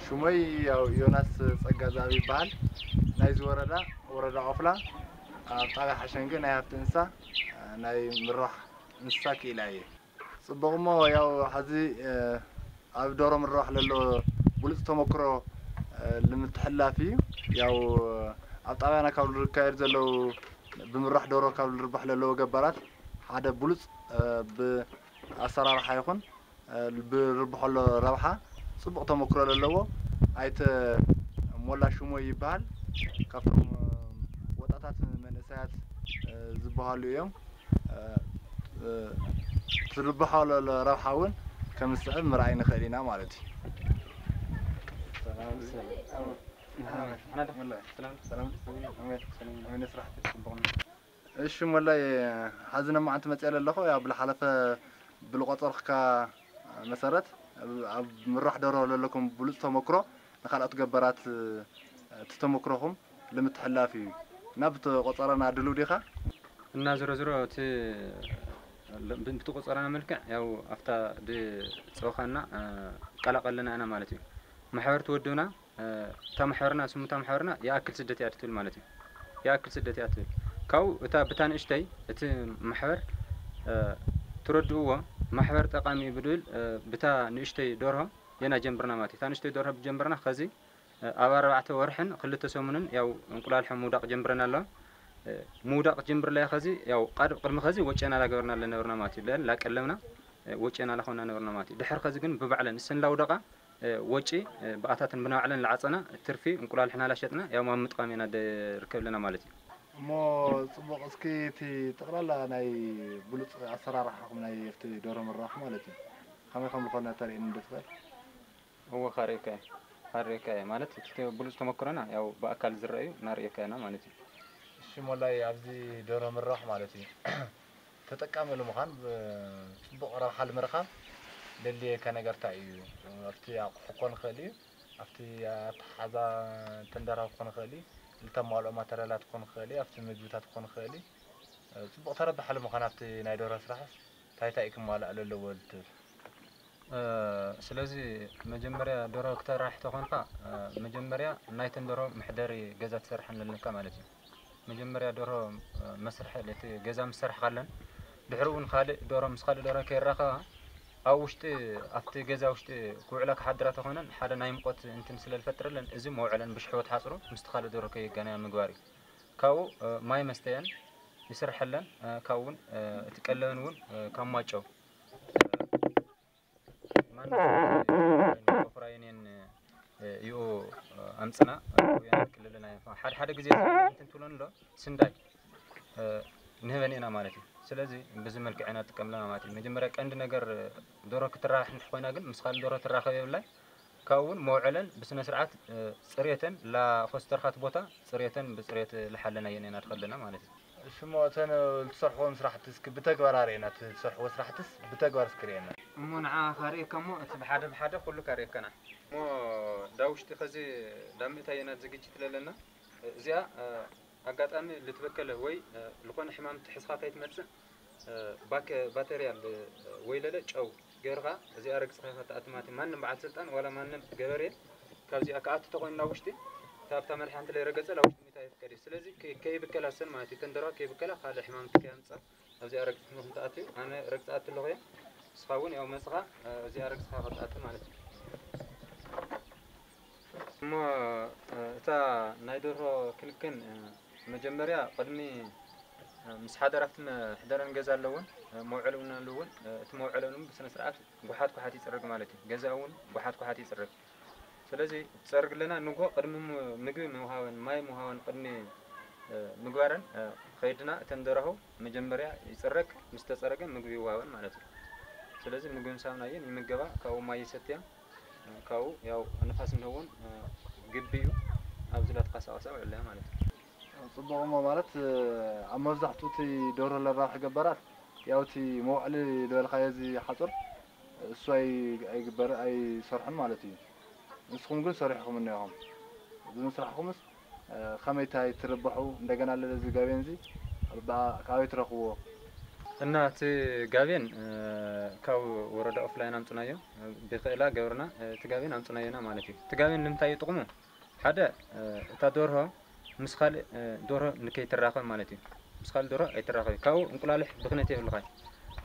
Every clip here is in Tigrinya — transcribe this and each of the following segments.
ሽሞይ ያው ዮናስ ጸጋዛብ ይበሃል። ናይዚ ወረዳ፣ ወረዳ ኦፍላ፣ ኣብ ጣብያ ሓሸንገ ናይ ሃፍቲ እንስሳ፣ ናይ ምርባሕ እንስሳ ክኢላ እየ። ጽቡቕ እሞ ያው ሐዚ፣ እ፣ ኣብ ዶሮ ምርባሕ ለሎ ብሉጽ ተመክሮ፣ እ፣ ልምትሕላፍ እዩ። ያው ኣብ ጣብያና ካብ ልካየድ ዘለዉ ብምርባሕ ዶሮ ካብ ልርባሕ ለለዎ ገባራት ሓደ ብሉጽ፣ እ፣ ብኣሰራርሓ ይኹን፣ እ፣ ብርብሖ ኣሎ ረብሓ ጽቡቕ ተመክሮ ለለዎ ኣይተ ሞላ ሽሞይ ይበሃል። ካብቶም፣ እ፣ ወጣታት መንእሰያት፣ እ፣ ዝበሃሉ እዮም። እ፣ እ፣ ትርብሖ ዘሎ ረብሓ እውን ከም ዝስዕብ ምርኣይ ንኽእል ኢና ማለት እዩ። ሰላም፣ ሰላም። ሰላም፣ ሰላም። ሰላም፣ ሰላም። ኣሜን። ኣሜን። ስራሕ ጽቡቕ ነው። እሺ ሞላይ፣ ሐዚ ነማዓንቲ መፅእ ኣለኹ። ያው ብልሓለፈ ብልቆፀርካ መሰረት ኣብ ምራሕ ደሮ ለለኩም ብሉፅ ተመክሮ ንካልኦት ገበራት እቲ ተመክሮኹም ልምትሕላፍ እዩ እና ብትቆፀረና ድልው ዲኻ? እና ዝሮ ዝሮ እቲ ብትቆፀረና መልክዕ ያው ኣብታ ድፀውኻና ቀላቀለና ኢና ማለት እዩ። ማሕበር ትወድብና እታ ማሕበርና፣ ስሙ እታ ማሕበርና የኣክል ስደት እያ ትብል ማለት እዩ። የኣክል ስደት እያ ትብል። ካብኡ እታ ብታ ንእሽተይ እቲ ማሕበር፣ እ፣ ትረድእዎ ማሕበር ጠቃሚ እዩ ብድብል፣ እ፣ ብታ ንእሽተይ ደርሆ የና ጀምርና ማለት እዩ። እታ ንእሽተይ ደርሆ ብጀምርና ከዚ፣ እ፣ ኣብ ኣርባዕተ ወርሕን ክልተ ሰሙንን ያው እንቁላልሖ ምውዳቅ ጀምረን ኣለዋ። እ፣ ምውዳቅ ጀምርላ እያ ከዚ ያው ቃድ-፣ ቅድሚ ከዚ ወጨና ላገበርና ለነበርና ማለት እዩ። ለን ላቀለምና፣ እ፣ ወጨና ላኾና ነበርና ማለት እዩ። ድሕር ከዚ ግን ብባዕለን እሰን ላውደቃ እ፣ ወጪ፣ እ፣ ብኣታትን ብናባዕለን ለዓጸና ትርፊ እንቁላልሕና ላሸጥና ያው ማብ ምጥቃም ኢና ደ-፣ ርከብ ኣለና ማለት እዩ። እሞ ጽቡቕ፣ እስኪ እቲ ጠቕላላ ናይ ብሉጽ ኣሰራርሓኹም ናይ ኣብቲ ደርሆ ምርባሕ ማለት እዩ፣ ከመይ ከም ዝኾነ ተርእየኒ ዶ ትኽእል? እወ፣ ካርእየካ እየ። ካርእየካ እየ ማለት እቲ ብሉጽ ተመክሮና ያው ብኣካል ዝረኣዩ እናርእየካ ኢና ማለት እዩ። እሺ ሞላይ፣ ኣብዚ ደርሆ ምርባሕ ማለት እዩ ተጠቃሚ ንምዃን ብ-፣ ጽቡቕ ረብሓ ንምርኻብ ዘድልየካ ነገር እንታይ እዩ? ኣብቲ ኣቑሑ ክኾን ይኽእል እዩ፣ ኣብቲ ኣተሓሕዛ ተንደራ ክኾን ይኽእል እዩ፣ ልተማልኦ ማተርያላት ክኾን ይኽእል እዩ፣ ኣብቲ ምግብታት ክኾን ይኽእል እዩ። ጽቡቕ ተረባሒ ንምዃን ኣብቲ ናይ ደርሆ ስራሕስ እንታይ እንታይ እዩ ክማላእ ዘለዎ ልትብል? እ፣ ስለዚ መጀመርያ ደርሆ ክተራብሕ ተኾንካ፣ እ፣ መጀመርያ ናይተን ደርሆ መሕደሪ ገዛ ትሰርሐን ኣለካ ማለት እዩ። መጀመርያ ደርሆ፣ እ፣ መስርሒ እቲ ገዛ ምስ ሰርሕካለን፣ ድሕሪ እውን ካልእ ደርሆ ምስ ካልእ ደርሆ ከይራኸባ፣ ኣብ ውሽጢ፣ ኣብቲ ገዛ ውሽጢ ክውዕላ ክሓድራ ተኾነን፣ ሓደ ናይ ሙቐት እንትን ስለ ዝፈጥረለን፣ እዚ መውዕለን ብሽሕቦ ትሓጽሩ፣ ምስቲ ካልእ ደርሆ ከይገናያ ምግባር እዩ። ካብኡ፣ እ፣ ማይ መስተየን ይስርሐለን፣ እ፣ ካብኡ እውን፣ እ፣ እቲ ቀለበን እውን፣ እ፣ ካብ ማጨው፣ እ፣ ማና ኮፍራይኔን፣ እ፣ ይኡ፣ እ፣ ኣምጽና፣ እ፣ ወያን ክልልና፣ ሓደ ሓደ ግዜ እንትን ትብሎን ኣሎ፣ ስንዳይ፣ እ፣ ንህበን ኢና ማለት እዩ። ስለዚ በዚ መልክዕ ኢና ንጥቀምለና ማለት እዩ። መጀመርያ ቀንዲ ነገር፣ እ፣ ደሮ ክትራባሕ እንድሕር ኮይና ግን ምስ ካልእ ደሮ ትራኸብ የብላን። ካብኡ እውን መውዐለን ብስነ ስርዓት፣ እ፣ ጽሬተን ላኾስተርካት ቦታ ጽሬተን ብጽሬት ልሓለናየን ኢና ንኸለና ማለት እዩ። እሺ እሞ እተን እትሰርሕዎም ስራሕቲ እስኪ ብተግባር ኣርእየና፣ እቲ እትሰርሕዎ ስራሕትስ ብተግባር እስኪ ርእየና። እሞ ንዓ ካርእየካ እሞ እቲ ብሓደ ብሓደ ኩሉ ካርእየካና። እሞ ዳ ውሽጢ ኸዚ ዳ ምእታየና ዝግጅት ለለና እዚኣ፣ እ፣ ኣጋጣሚ ልትበከለ ወይ፣ እ፣ ልኾነ ሕማም ትሕዝኻ ከይትመጽእ፣ እ፣ ባከ-፣ ባተርያል፣ እ፣ ወይ ለለ ጨው ገይርኻ እዚኣ ረግጽኻ ኢኻ ትኣቲ ማለት እዩ። ማንም በዓል ስልጣን ዋላ ማንም ገበሬ ካብዚኣ ክኣቱ ተኾይኑ ናብ ውሽጢ እታ ኣብታ መልሓንቲ ለይረገጸ ናብ ውሽጢ ምእታይ ኣይፍቀድ እዩ። ስለዚ ከ-፣ ከይብከላ ሰን ማለት እዩ። ተን ደርሆ ከይብከላ ካልእ ሕማም ከየምጽእ ኣብዚኣ ረግጽ ትምህርት ትኣትዩ። ኣነ ረግጽ ኣትለኹ እየ። ንስኻ እውን ያው መጽኻ፣ እ፣ እዚኣ ረግጽኻ ክትኣቲ ማለት እዩ። እሞ፣ እ፣ እታ ናይ ደርሆ ክንክን፣ እ፣ መጀመርያ ቅድሚ፣ እ፣ ምስ ሓደር ኣብቲ መሕደረን ገዛ ኣለውን፣ እ፣ መውዐሊ እውን ኣለውን፣ እ፣ እቲ መውዐለን እውን ብስነ ስርዓት ጓሓት ጓሓት ይጽረግ ማለት እዩ። ገዛ እውን ጓሓት ጓሓት ይጽረግ። ስለዚ ትጸርግ ኣለና ንግሆ ቅድሚ ም-፣ ምግቢ ምውሃበን፣ ማይ ምውሃበን ቅድሚ፣ እ፣ ምግባረን፣ እ፣ ከይድና እተን ደርሆ መጀመርያ ይጽረግ፣ ምስ ተጸረገ ምግቢ ይውሃበን ማለት እዩ። ስለዚ ምግቢ ምስ ሃብናየን ይምገባ፣ ካብኡ ማይ ይሰትያ፣ እ፣ ካብኡ ያው ንፋስ እንህውን፣ እ፣ ግቢ እዩ፣ ኣብዚ ላተንቀሳቐሳ ውዕለያ ማለት እዩ። ጽቡቕ እሞ ማለት፣ እ፣ ኣብ መብዛሕትኡ እቲ ደርሆ ለራብሒ ገባራት ያው እቲ መውዕሊ ዝበልካዮ እዚ ሓጹር እሱ ኣይ-፣ ኣይግበር-፣ ኣይሰርሑን ማለት እዩ። ንስኹም ግን ሰሪሕኹም እኒኦኹም። ብምስራሕኹምስ፣ እ፣ ከመይ እንታይ ትርብሑ? እንደገና ለለዚ ገበን እዚ ብ-፣ ካበይ ትረኽብዎ? እና እቲ ጋቤን ካብ ወረዳ ኦፍላይን ኣምፅናዮ፣ ብክእላ ገብርና እቲ ጋቤን ኣምፅናዮና ማለት እዩ። እቲ ጋቤን ንምንታይ እዩ ጥቕሙ? ሓደ እታ ደርሆ ምስ ካልእ ደርሆ ንከይትራኸብ ማለት እዩ። ምስ ካልእ ደርሆ ኣይትራኸብ፣ ካብኡ እንቁላልሕ ብክነት የብልኻይ።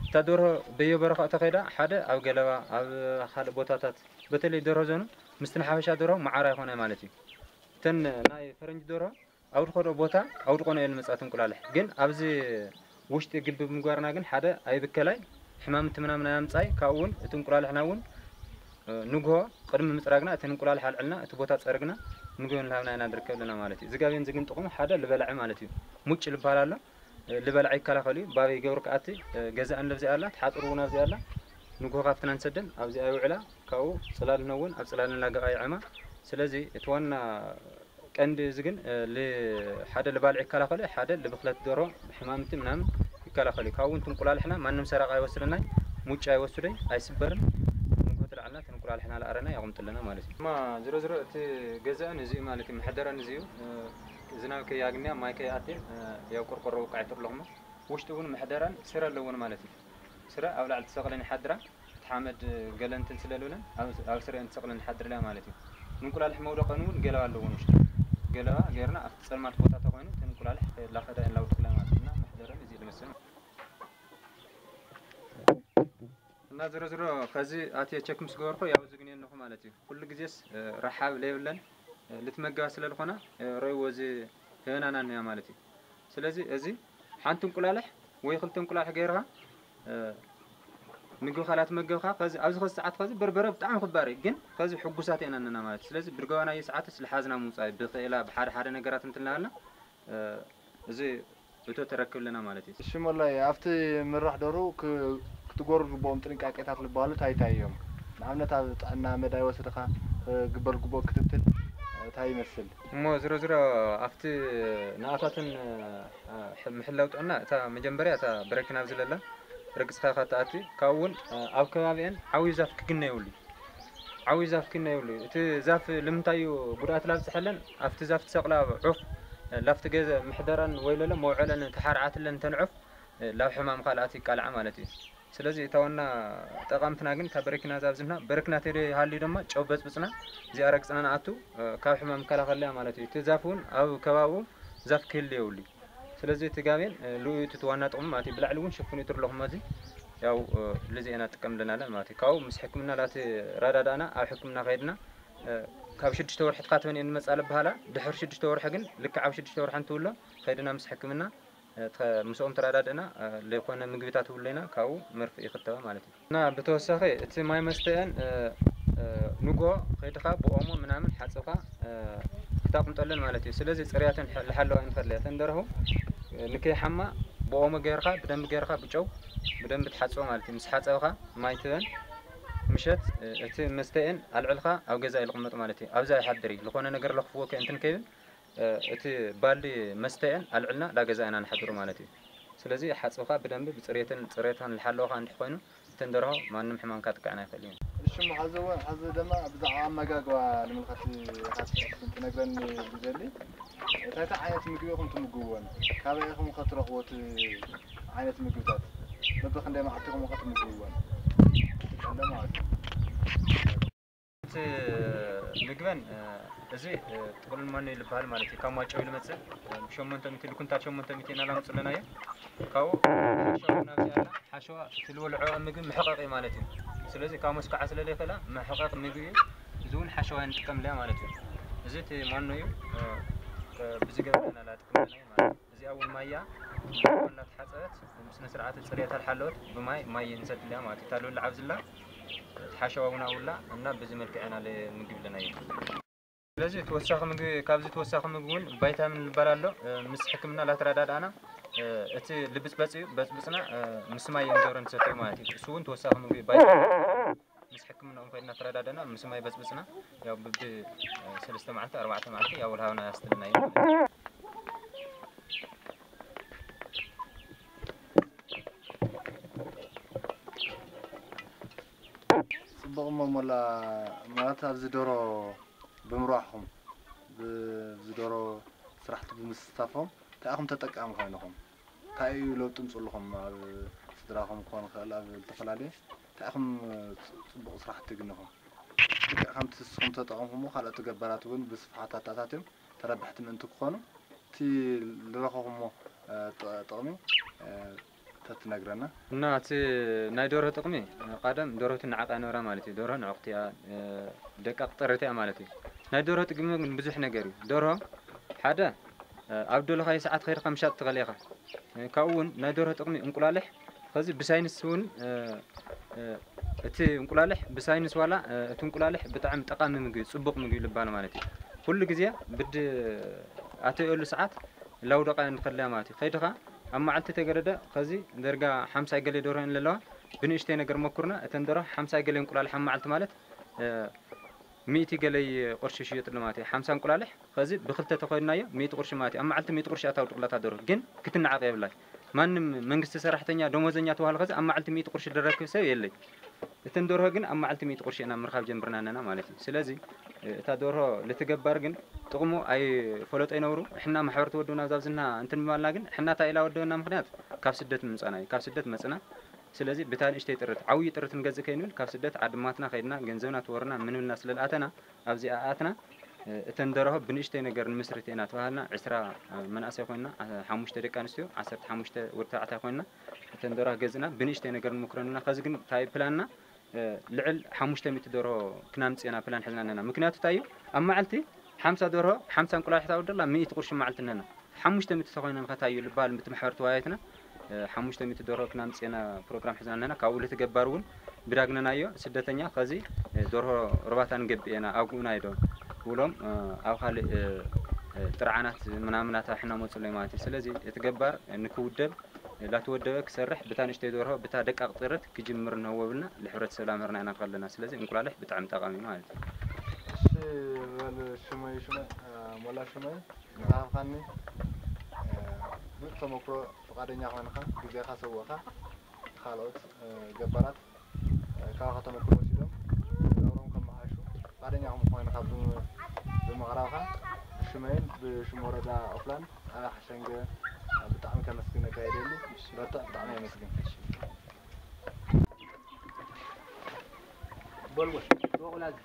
እታ ደርሆ በየበረኻ እተኸይዳ ሓደ ኣብ ገለባ ኣብ ካልእ ቦታታት፣ በተለይ ደርሆ ዘኑ ምስቲ ንሓፈሻ ደርሆ መዓር ኣይኮነ ማለት እዩ። እተን ናይ ፈረንጂ ደርሆ ኣብ ድኾዶ ቦታ ኣብ ድኾነ እየን መጻት እንቁላልሕ። ግን ኣብዚ ውሽጢ ግቢ ብምግባርና ግን ሓደ ኣይብከላይ፣ ሕማምቲ ምናምን ኣያምጻይ። ካብኡ እውን እቲ እንቁላልሕና እውን ንግሆ ቅድሚ ምጽራግና እቲ እንቁላልሕ ኣልዕልና እቲ ቦታ ጸርግና ምግቢ ንላብና ኢና ንርከብ ኣለና ማለት እዩ። እዚ ጋቤን እዚ ግን ጥቕሙ ሓደ ልበላዒ ማለት እዩ። ሙጭ ልበሃል ኣሎ። ልበላዒ ይከላኸል እዩ። ባበይ ገብሩ ከኣቲ ገዛእን ለብዚኣ ኣላ፣ ትሓጥሩ እውን ኣብዚኣ ኣላ። ንግሆ ካብትና ንሰደን ኣብዚኣ ይውዕላ። ካብኡ ጽላል ነውን ኣብ ጽላል ንላገቓ ይዕማ። ስለዚ እቲ ዋና ቀንዲ እዚ ግን ሓደ ልባልዕ ይከላኸል፣ ሓደ ልብክለት ዶሮ ሕማምቲ ምናምን ይከላኸል። ካብኡ እንቁላልሕና ማንም ሰራቕ ኣይወስደናይ፣ ሙጫ ኣይወስደይ፣ ኣይስበርን። ንጎ ትልዓልና እንቁላልሕና ለኣረና ያቁምጥልና ማለት እዩ። ማ ዝሮ ዝሮ እቲ ገዛእን እዚ ማለት እዩ፣ መሕደራን እዚ እዩ። ዝናብ ከይኣግንያ ማይ ከይኣትየን ያው ቆርቆሮ ውቃዕ ይትርለኹሞ። ውሽጢ እውን መሕደራን ስረ ኣለዎን ማለት እዩ። ስረ ኣብ ላዕሊ ትሰቕለን ይሓድራ። እቲ ሓመድ ገለ እንትን ስለልብለን ኣብ ስረአን ትሰቕለን ይሓድርላ ማለት እዩ። ንእንቁላልሕ መውደቐን እውን ገለባ ኣለዎን ውሽጢ። ገለባ ገይርና ኣብቲ ጸልማት ቦታ ተኾይኑ እቲ እንቁላልሕ ከየላኸዳ የላውድቕላ ማለት እና መሕደረን እዚ ልመስል። እና ዝሮ ዝሮ ከዚ ኣትየ ቸክ ምስ ገበርኩ ያው እዚ ግን የለኹ ማለት እዩ። ኩሉ ግዜስ ረሓብ ለየብለን ልትመገባ ስለ ዝኾና ረይዎ እዚ ህበናና እያ ማለት እዩ። ስለዚ እዚ ሓንቲ እንቁላልሕ ወይ ክልተ እንቁላልሕ ገይርካ ምግቢ ካላት መገብካ ከዚ ኣብዚ ከዚ ሰዓት ከዚ በርበረ ብጣዕሚ ክባር እዩ፣ ግን ከዚ ሕጉሳት ኢና ነና ማለት እዩ። ስለዚ ብድገባናዮ ሰዓትስ ልሓዝና ምውፃእ ብክእላ ብሓደ ሓደ ነገራት እንትናሃልና እዚ እቶ ተረክብ ኣለና ማለት እዩ። እሺ ሞላይ፣ ኣብቲ ምራሕ ደሩ ክትጎሩ ዝግብኦም ጥንቃቄታት ዝበሃሉ እንታይ እንታይ እዮም? ንኣብነት ኣብ ጥዕና መዳይ ወስድኻ ክግበር ዝግብኦ ክትትል እንታይ ይመስል? እሞ ዝሮ ዝሮ ኣብቲ ንኣታትን ምሕላው ጥዕና እታ መጀመርያ እታ በረኪና ኣብዚ ለላ ርግፅኻ ኢኻ ትኣቲ። ካብኡ እውን ኣብ ከባቢአን ዓብዩ ዛፍ ክግነ የብሉ። ዓብዩ ዛፍ ክግነ የብሉ። እቲ ዛፍ ልምንታይ እዩ ጉድኣት ላብፅሐለን? ኣብቲ ዛፍ ትሰቕላ ዑፍ ላፍቲ ገዘ ምሕደራን ወይ ለለ መውዐለን ተሓርዓትለን እንተን ዑፍ ላብ ሕማም ካልኣት ይቃልዓ ማለት እዩ። ስለዚ እታ ዋና ጠቓምትና ግን እታ በረኪና እዛ ኣብዚምና በረኪና ተደ ሃልዩ ድማ ጨው በፅብፅና እዚኣ ረግፅና ንኣቱ ካብ ሕማም ይከላኸልያ ማለት እዩ። እቲ ዛፍ እውን ኣብ ከባብኡ ዛፍ ክህል የብሉ። ስለዚ እቲ ጋቤን ልኡዩ እቲ ዋና ጥቕሙ ማለት እዩ። ብላዕሊ እውን ሽፍኑ ይትርለኹም እዚ ያው ልዚ ኢና ጥቀም ኣለናለን ማለት እዩ። ካብኡ ምስ ሕክምና ላቲ ረዳዳእና ኣብ ሕክምና ከይድና ካብ ሽዱሽተ ወርሒ ትካትበን እየን ዝመፃ ልበሃላ። ድሕሪ ሽዱሽተ ወርሒ ግን ልክዕ ኣብ ሽዱሽተ ወርሒ እንትውሎ ከይድና ምስ ሕክምና ምስኦም ተረዳድእና ለይኮነ ምግብታት ውለይና ካብኡ መርፍእ ይኽተባ ማለት እዩ። እና ብተወሳኺ እቲ ማይ መስተአን ንጎ ከይድኻ ብኦሞ ምናምን ሓፅብኻ ክታቁምጠለን ማለት እዩ። ስለዚ ፅርያተን ልሓለዋ ንኸድለያ ተንደረኹ ንከይሓማ ብኦሞ ገይርካ ብደንብ ገይርካ ብጨው ብደንብ ትሓፅቦ ማለት እዩ። ምስ ሓፀብኻ ማይ ትበን ምሸት እቲ መስተአን ኣልዕልካ ኣብ ገዛ ይልቕመጥ ማለት እዩ። ኣብዛ ይሓድር እዩ። ዝኾነ ነገር ለኽፍዎ ከእንትን ከይብል እቲ ባልዲ መስተአን ኣልዕልና ዳ ገዛ ኢና ንሓድሩ ማለት እዩ። ስለዚ ሓፅብኻ ብደንብ ብፅሬትን ፅሬታን ልሓለወኻ እንድሕ ኮይኑ እተን ደርሆ ማንም ሕማም ካጥቅዐን ኣይኽእል እዩ። እሺ እሞ ሐዚ እውን ሐዚ ድማ ብዛዕባ ኣመጋግባ ንምልከት ኢኻ ትነግረኒ ዝደሊ እንታይ እንታይ ዓይነት ምግቢ ኢኹም ትምግብዎን ካበይ ኢኹም ከትረኽቦ እቲ ዓይነት ምግብታት በብክንደይ መዓልቲ ኢኹም ከትምግብዎን ትቀለ ማለት እዩ። እቲ ምግበን እዚ ጥቕሉል መኖ ይልበሃል ማለት እዩ። ካብ ማጨው ልመፅእ ብሸሞንተ ሚእቲ ልኩንታል ሸሞንተ ሚእቲ ኢና ላምፅለናዮ ካብኡ ሓሸዋ ናብዚ ኣላ ሓሸዋ እቲ ልበልዖ ምግቢ መሕቐቂ ማለት እዩ። ስለዚ ካብ መስከዓ ስለ ዘይክእላ መሕቐቂ ምግቢ እዩ። እዚ እውን ሓሸዋ ንጥቀምለያ ማለት እዩ። እዚ እቲ ማኖ እዩ። ብዚ ገበና ላጥቅምለና ማለት እዩ። እዚኣ እውን ማያ እናተሓፀበት ስነ ስርዓት ፅሬታ ልሓለወት ብማይ ማይ ንሰድለያ ማለት እዩ። ታልብል ዓብዝላ ሓሸዋ እውን ኣውላ እና በዚ መልክዕ ኢና ምግቢ ኣለና እዩ። ስለዚ ተወሳኺ ምግቢ ካብዚ ተወሳኺ ምግቢ እውን ቫይታሚን ዝበሃል ኣሎ። ምስ ሕክምና ላተረዳዳእና እቲ ልብፅበፅ እዩ በፅብፅና ምስ ማይ እዮም ገብረ ንሰትዩ ማለት እዩ። እሱ እውን ተወሳኺ ምግቢ ቫይታሚን ምስ ሕክምናኦም ኮይና ተረዳደና ምስ ማይ በፅብፅና ያው ብቢ ሰለስተ መዓልቲ ኣርባዕተ መዓልቲ ያው ልሃብና ያስትልና እዩ ማለት እዩ። ጽቡቕ እሞ ሞላ ማለት ኣብዚ ደሮ ብምርባሕኹም ብዚ ደሮ ስራሕቲ ብምስታፎም እንታይ ኢኹም ተጠቃሚ ኮይንኹም? እንታይ እዩ ለውጢ ምፅልኹም ኣብ ስድራኹም ክኾን ይኽእል ኣብ ዝተፈላለየ እንታይ ኢኹም ጽቡቕ ስራሕ ትግንኹም። ልክዕ ከምቲ ንስኹም ተጠቐምኩሞ ካልኦት ገባራት እውን ብስፍሓት ኣተኣታትዮም ተረባሕቲ ምእንቲ ክኾኑ እቲ ዝረኸኹሞ ጥቕሚ ተትነግረና። እና እቲ ናይ ደርሆ ጥቕሚ ቀደም ደርሆ ትንዓቕ እያ ነበራ ማለት እዩ። ደርሆ ንዕቕቲ እያ፣ ደቃቕ ጥርት እያ ማለት እዩ። ናይ ደርሆ ጥቕሚ ግን ብዙሕ ነገር እዩ። ደርሆ ሓደ ኣብ ደለኻዮ ሰዓት ከይድካ ምሻጥ ትኽእል ኢኻ። ካብኡ እውን ናይ ደርሆ ጥቕሚ እንቁላልሕ ከዚ ብሳይንስ እውን እቲ እንቁላልሕ ብሳይንስ ዋላ እቲ እንቁላልሕ ብጣዕሚ ጠቓሚ ምግቢ እዩ፣ ጽቡቕ ምግቢ እዩ ልባል ማለት እዩ። ኩሉ ግዜ ብድ ኣተየሉ ሰዓት ላውደቓ ንኸለያ ማለት እዩ። ከይድኻ ኣብ መዓልቲ ተገደደ ከዚ ደርጋ ሓምሳ ገለ ደርሆ እየን ለለዋ ብንእሽተይ ነገር መኩርና እተን ደርሆ ሓምሳ ገለ እንቁላልሕ ኣብ መዓልቲ ማለት ሚእቲ ገለይ ቅርሺ ሽየጥሉ ማለት እዩ። ሓምሳ እንቁላልሕ ከዚ ብክልተ ተኾይድናዮ ሚእቲ ቅርሺ ማለት እዩ። ኣብ መዓልቲ ሚእቲ ቅርሺ ኣታውድቕላታ ደርሆ ግን ክትነዓቕ የብላይ። ማንም መንግስቲ ሰራሕተኛ ደሞዘኛ ተባህለ ከዚ ኣብ መዓልቲ ሚእቲ ቅርሺ ዝረክብ ሰብ የለይ። እተን ደርሆ ግን ኣብ መዓልቲ ሚእቲ ቅርሺ ኢና ምርካብ ጀምርና ኣለና ማለት እዩ። ስለዚ እታ ደርሆ ልትገባር ግን ጥቕሙ ኣይፈለጦ ይነብሩ። ሕና ማሕበር ተወደብና ኣብዛ ዝና እንትን ምባልና ግን ሕና እንታይ ኢላ ወደበና ምኽንያት ካብ ስደት ምምፃና እዩ። ካብ ስደት መፅና ስለዚ ብታ ንእሽተይ ጥርት ዓብዪ ጥርት ንገዝእ ከይንብል ካብ ስደት ዓድማትና ከይድና ገንዘብና ተወርና ምንብልና ስለ ዝኣተና ኣብዚኣ ኣትና። እተን ደርሆ ብንእሽተይ ነገር ንምስርት ኢና ተባሃልና ዕስራ መናእሰይ ኮይንና ሓሙሽተ ደቂ ኣንስትዮ ዓሰርተ ሓሙሽተ ወዲ ተባዕታይ ኮይንና እተን ደርሆ ገዝእና ብንእሽተይ ነገር ንመኩረን ኢና። ከዚ ግን እንታይ ፕላንና ልዕል ሓሙሽተ ሚእቲ ደርሆ ክናምፅእ ኢና ፕላን ሒዝና ኣለና። ምክንያቱ እንታይ እዩ ኣብ መዓልቲ ሓምሳ ደርሆ ሓምሳ እንቁላሊሕ ታወደላ ሚእቲ ቅርሺ መዓልቲ ኣለና። ሓሙሽተ ሚእቲ ተኮይነን ከታዩ ልባል ምት ማሕበር ተወያየትና ሓሙሽተ ሚእቲ ደርሆ ክናምፅና ፕሮግራም ሒዝና ኣለና። ካብኡ ልትገባር እውን ብዳግነናዮ ስደተኛ ከዚ ደርሆ ርባታ ንገብእ ኢና ኣጉኡና ኢዶ ብሎም ኣብ ካልእ ጥርዓናት ምናምናት ኣሕና መፅሎ ማለት እዩ። ስለዚ እቲ ገባር ንክውደብ ላተወደበ ክሰርሕ ብታ ንእሽተይ ደርሆ ብታ ደቃቕ ጥርት ክጅምር ንህወብልና ንሕብረተሰብ ላምህርና ኢና ከለና። ስለዚ እንቁላልሕ ብጣዕሚ ጠቓሚ ማለት እዩ። እሺ በል ሽመይ ሽመይ ሞላ ሽመይ ንዝሃብካኒ ብዙሕ ተመክሮ ፍቓደኛ ኮይንካ ግዜኻ ሰውእካ ካልኦት ገባራት ካባኻ ተመክሮ ወሲዶም ናብሮም ከመሓሹ ፍቓደኛ ከም ኮይንካ ብምቕራብካ ብሽመይን ብሽም ወረዳ ኦፍላን ጣብያ ሓሸንገ ብጣዕሚ ከመስግነካ ይደሊ። በርትዕ፣ ብጣዕሚ የመስግን። በልወ ዶቑላዝ